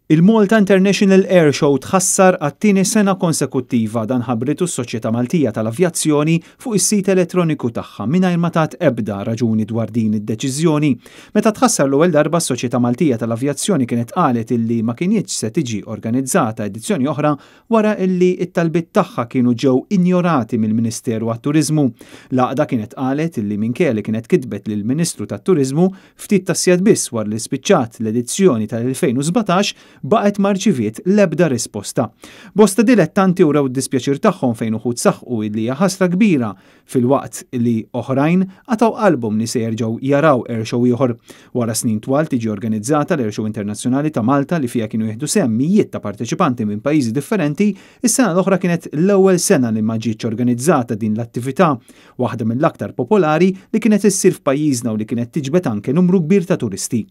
Il-Malta International Air Show tħassar għat-tieni sena konsekuttiva. Dan ħabbritu s-Soċjetà Maltija tal-Avjazzjoni fuq is-sit elettroniku tagħha mingħajr ma tat ebda raġuni dwar din id-deċiżjoni. Meta tħassar l-ewwel darba, s-Soċjetà Maltija tal-Avjazzjoni kienet qalet illi ma kinitx se tiġi organizzata edizzjoni oħra wara illi t-talbiet tagħha kienu ġew injorati mill-Ministeru għat-Turiżmu. L-għaqda kienet qalet illi minkejja li kienet kitbet lill-Ministru tat-Turiżmu ftit tas-sigħat biss wara li spiċċat l-edizzjoni tal-2017, baqgħet ma rċiviet l-ebda risposta. Bosta dilettanti wrew d-dispjaċir tagħhom fejn uħud saħqu illi hija ħasra kbira filwaqt li oħrajn qatgħu qalbhom li se jerġgħu jaraw airshow ieħor. Wara snin twal tiġi organizzata l-Airshow Internazzjonali ta' Malta li fiha kienu jieħdu sehem mijiet ta' parteċipanti minn pajjiżi differenti, is-sena l-oħra kienet l-ewwel sena li ma ġietx organizzata din l-attività, waħda mill-aktar popolari li kienet issir f'pajjiżna u li kienet tiġbed anke numru kbir ta' turisti.